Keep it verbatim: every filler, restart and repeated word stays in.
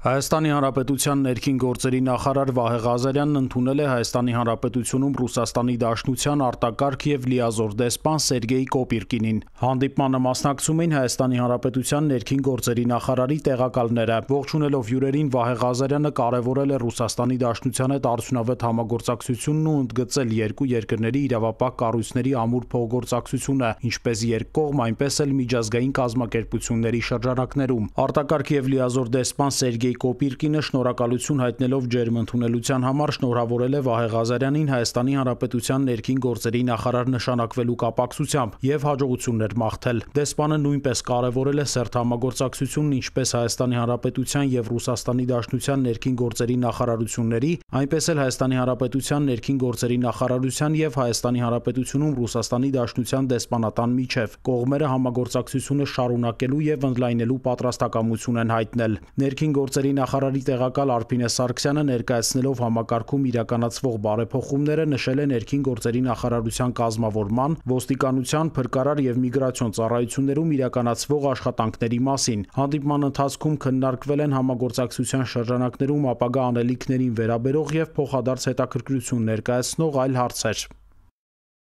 Հայաստանի Հանրապետության ներքին գործերի նախարար Վահե Ղազարյանն ընդունել է Հայաստանի Հանրապետությունում Ռուսաստանի Դաշնության արտակարգ և լիազոր դեսպան Սերգեյ Կոպիրկինին։ Հանդիպմանը մասնակցում էին Հայաստանի Հանրապետության ներքին գործերի նախարարի տեղակալները։ Ողջունելով հյուրերին, Վահե Ղազարյանը կարևորել է Ռուսաստանի Դաշնության հետ արդյունավետ համագործակցությունն ու ընդգծել երկու երկրների իրավապահ կառույցների ամուր փոխգործակցությունը, ինչպես երկկողմ, այնպես էլ միջազգային կազմակերպությունների շրջանակներում։ Արտակարգ և լիազոր դեսպան Սերգեյ Կոպիրկինը շնորհակալություն հայտնելով ջերմ ընդունելության համար շնորհավորել է Վահե Ղազարյանին Հայաստանի Հանրապետության ներքին գործերի նախարար նշանակվելու կապակցությամբ և հաջողություններ մաղթել։ Դեսպանը նույնպես կարևորել է սերտ համագործակցությունն ինչպես Հայաստանի Հանրապետության և Ռուսաստանի Դաշնության ներքին գործերի նախարարությունների, այնպես էլ Հայաստանի Հանրապետության ներքին գործերի նախարարության և Հայաստանի Հանրապետությունում Ռուսաստանի Դաշնության դեսպանատան միջև։ Կողմերը համագործակցությունը շարունակելու և ընդլայնելու պատրաստակամություն են հայտնել։ Ներքին գործերի նախարարի տեղակալ Արփինե Սարգսյանը ներկայացնելով համակարգում իրականացվող բարեփոխումները նշել է ներքին գործերի նախարարության կազմավորման, ոստիկանության, փրկարար և միգրացիոն ծառայություններում իրականացվող աշխատանքների մասին։ Հանդիպման ընթացքում քննարկվել են համագործակցության շրջանակներում ապագա անելիքներին վերաբերող և փոխադարձ հետաքրքրություն ներկայացնող այլ հարցեր։